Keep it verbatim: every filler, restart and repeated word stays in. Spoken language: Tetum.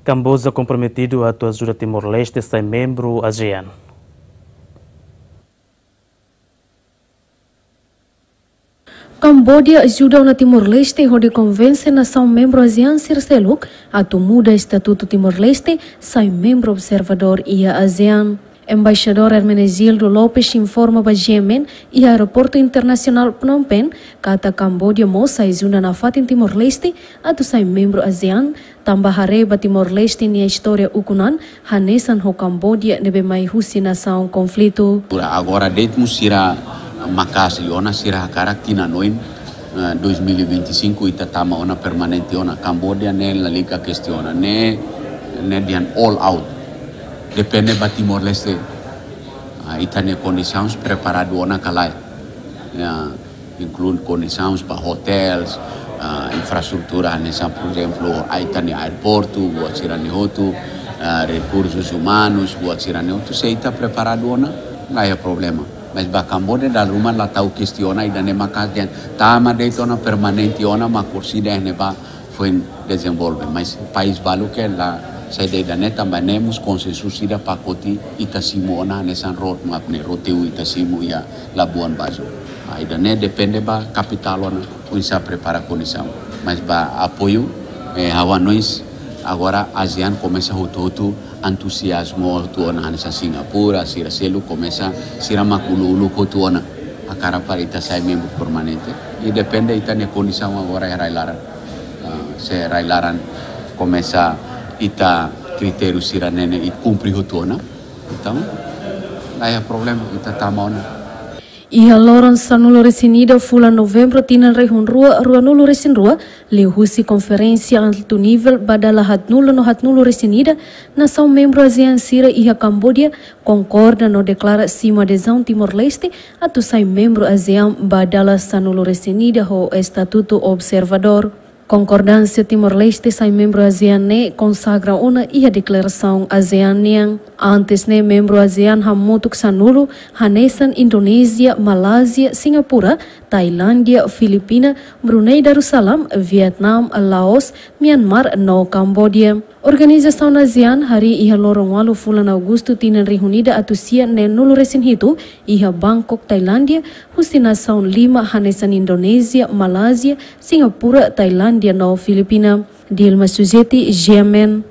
Kamboja komprometidu atu ajuda Timor-Leste sai membru ASEAN. Kamboja ajuda ona Timor-Leste hodi konvense nasaun membru ASEAN sira seluk atu muda estatutu Timor-Leste sai membru observadór iha ASEAN. Embaixadór Hermenegildo Lopes informa ba G M N iha Aeroportu Internasionál Phnom Penh katak Kamboja mós ajuda nafatin Timor-Leste atu sai membru ASEAN, tanba haree ba Timor-Leste nia istória ukun an hanesan ho Kamboja ne'ebé mai husi nasaun konflitu. Agora de'it mós sira maka'as liu ona, sira hakarak tinan oin, eh, dois mil e vinte e cinco ita tama ona permanente ona. Kamboja ne'e lalika kestiona, ne'e, ne'e dehan all out. Depende ba Timor-Leste. Ah, ita-nia kondisaun preparadu ona ka lae. Ya, inklui kondisaun ba hotéls, ah, infraestrutura hanesan, por ezemplu, ah, ita-nia aeroportu, buat sira-ne'e hotu, ah, rekursus umanus, buat sira-ne'e hotu, se ita preparadu ona, la iha problema. Mas ba Kamboja dala ruma la tau kestiona, ida-ne'e maka'as dehan tama de'it ona permanente ona, mak kursi de'it ne'ebá foin dezenvolve. Mas país balu ke la saida ida-ne'e, tanba ne'e mós konsensus ida pakote ita simu ona hanesan roadmap ne'e, roteru ita simu iha Labuan Bajo. Ah, ida-ne'e depende ba kapitál ona oinsá prepara kondisaun. Mas ba apoiu, eh, ha'u hanoin agora ASEAN komesa hotu-hotu entuziazmu hotu ona, hanesan Singapura, sira seluk komesa, sira mak uluk-uluk hotu ona hakarak para ita sai membru permanente. I depende ita-nia kondisaun agora iha rai-laran. Ah, se rai-laran komesa ita kritériu sira-ne'e ne'e ita kumpre hotu ona, entaun la iha problema, ita tama ona. Iha loron sanulu-resin-ida fulan Novembru tinan rihun rua ruanulu-resin-rua, liuhusi konferénsia altu nivel ba dala haatnulu no haatnulu-resin-ida, nasaun membru ASEAN sira iha Kamboja konkorda no deklara simu adezaun Timor-Leste atu sai membru ASEAN ba dala sanulu-resin-ida ho estatutu observadór. Konkordánsia Timor-Leste sai membru ASEAN ne'e konsagra ona iha deklarasaun ASEAN nian. Antes ne'e membru ASEAN hamutuk sanulu, hanesan Indonézia, Malázia, Singapura, Tailándia, Filipina, Brunei Darussalam, Vietnam, Laos, Myanmar no Kamboja. Organizasaun ASEAN harii iha loron ualu fulan Agostu tinan rihun ida atus sia neenulu-resin-hitu iha Bangkok, Tailándia, husi nasaun lima hanesan Indonézia, Malázia, Singapura, Tailándia no Filipina. Dilma Suzeti, G M N.